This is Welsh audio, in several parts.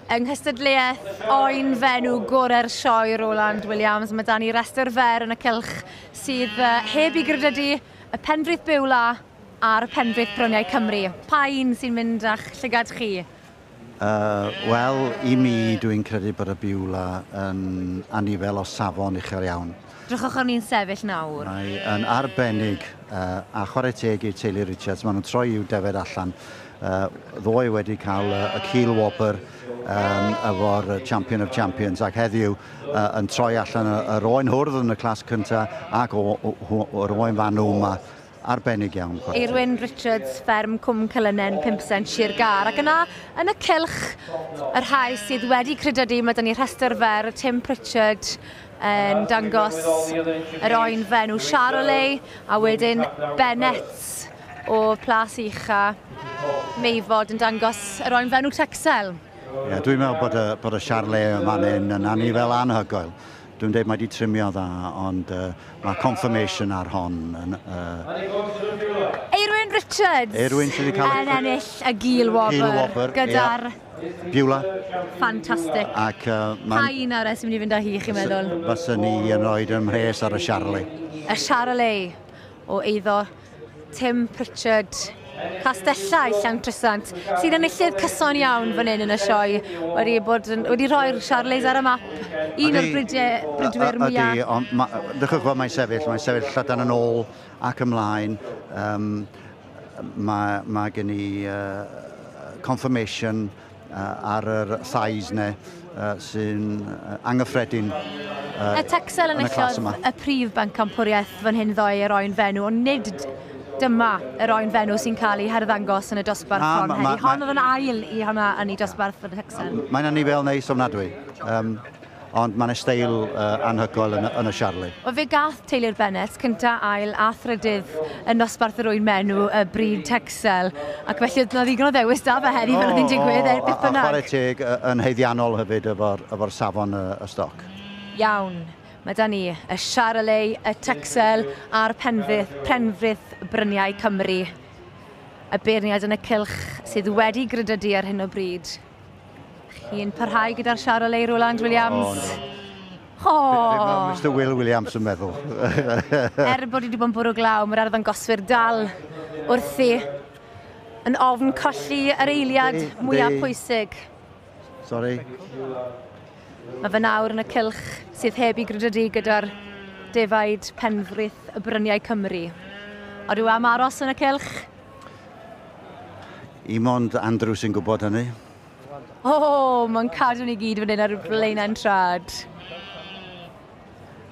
Yng nghystadleuaeth oen fenw gorau'r sioe, Roland Williams, mae 'da ni restr fer yn y cylch sydd heb ei gredydu, y Penfrith Beulah a'r Penfrith Bryniau Cymru. Pa un sy'n mynd â'ch llygad chi? Wel, i mi, dwi'n credu bod y Beulah yn anifel o safon uchel iawn. Drychwch arni'n sefyll nawr. Mae yn arbennig, a chwarae teg i'r teulu Richards, maen nhw'n troi i'w defaid allan. Ddoe wedi cael y cil wobr efo'r Champion of Champions, ac heddiw yn troi allan yr oen hwrdd yn y clas cyntaf ac o'r oen fanw yma. Arbennig iawn, chwarae teg. Eirwyn Richards, fferm Cwm Celynen, 5% Sir Gâr. Ac yna, yn y cylch, y rhai sydd wedi credydu, mae 'da ni rhestr fer, Tim Pritchard yn dangos yr oen fenw Charolais, a wedyn Bennett o Plas Ucha, Meifod yn dangos yr oen fenw Texel. Ie, dwi'n meddwl bod y Charolais yma'n hyn yn anifel anhygoel. Dwi'n dweud mae wedi trimio dda, ond mae confirmation ar hon. Yn, Eirwyn Richards Eirwyn sydd wedi cael yn ennill y gil wobr, Gil wobr, gyda'r Beulah. Ffantastig. Ac Pa un arall sy'n mynd i fynd â hi, chi'n meddwl? Fyswn ni yn rhoi ym mhres ar y Charolais. Y Charolais o eiddo Tim Pritchard, Castellau Llantrisant, sy'n enillydd cyson iawn fan hyn yn y sioe, wedi rhoi'r Charolais ar y map, un o'r bridwyr mwyaf. Ydy, ond drychwch fel mae'n sefyll, mae'n sefyll llydan yn ôl ac ymlaen. Mae gen i confirmation ar yr thighs ne, sy'n anghyffredin. Y Texel yn y clas enillodd yma. y prif bencampwriaeth fan hyn ddoe yr oen fenw, ond nid dyma yr oen fenw sy'n cael ei harddangos yn y dosbarth hon heddi. Hon oedd yn ail i hwnna yn ei dosbarth yn y Texel. Mae'n anifel neis ofnadwy, ond mae'n steil anhygoel yn y Charolais. Wel, fe gath teulu'r Bennett, cynta, ail a thrydydd yn nosbarth yr oen menw y brid Texel, ac felly oedd 'na ddigon o ddewis da fe heddi fel oedd hi'n digwydd, er beth A bynnag. chwarae teg yn haeddiannol hefyd efo'r safon y stoc. Iawn. Mae 'da ni y Charolais, y Texel a'r Penfrith Bryniau Cymru. Y beirniad yn y cylch sydd wedi gredydu ar hyn o bryd. Chi'n parhau gyda'r Charolais, Roland Williams? O, O! Be mae Mr Will Williams yn meddwl? Er bod hi wedi bod yn bwrw glaw, mae'r arddangoswyr dal wrthi yn ofn colli yr eiliad mwyaf pwysig. Sorry. Mae fe nawr yn y cylch sydd heb ei gredydu gyda'r defaid Penfrith y Bryniau Cymru. Odw am aros yn y cylch? I mond Andrew sy'n gwybod hynny. O, mae'n cadw ni gyd fan hyn ar blaenau'n trad.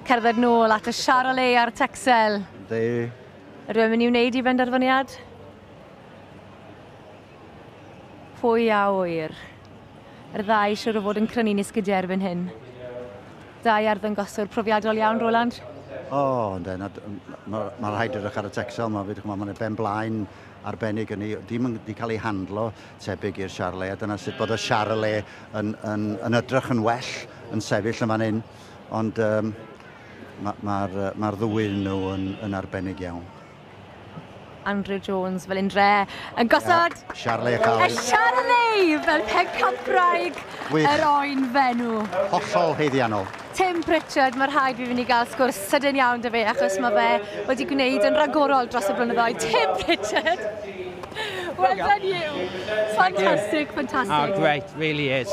Cerdded nôl at y Charolais a'r Texel. Yndi. Ydw i'n mynd i wneud i benderfyniad? Pwy a ŵyr? Yr ddau siŵr o fod yn crynu'n esgidiau erbyn hyn. Dau arddangoswr profiadol iawn, Roland. O, yndê, ma rhaid edrych ar y Texel, ma' fi, ch'mo', ma'n ben blaen arbennig yn ei, dim yn di cael ei handlo tebyg i'r Charolais, a dyna sut bod y Charolais yn edrych yn well yn sefyll yn fan hyn, ond ma'r ddwy nhw yn arbennig iawn. Andrew Jones fel un dre yn gosod Ia, Charolais Chael. Y Charolais fel pencampwraig Gwych. yr oen fenw. Hollol haeddiannol. Tim Pritchard, mae rhaid fi fynd i gael sgwrs sydyn iawn 'da fe, achos mae fe wedi gwneud yn ragorol dros y blynyddoedd. Tim Pritchard, well done you. Fantastic, fantastic. Oh, great, really is.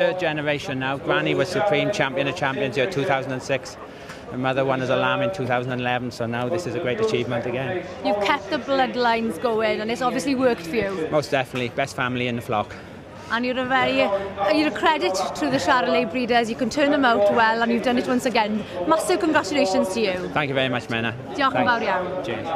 Third generation now. Granny was Supreme Champion of Champions year 2006. My mother won as a lamb in 2011, so now this is a great achievement again. You've kept the bloodlines going, and it's obviously worked for you. Most definitely, best family in the flock. And you're a credit to the Charolais breeders. You can turn them out well, and you've done it once again. Massive congratulations to you. Thank you very much, Menna. Diolch yn Thanks. fawr iawn. Cheers.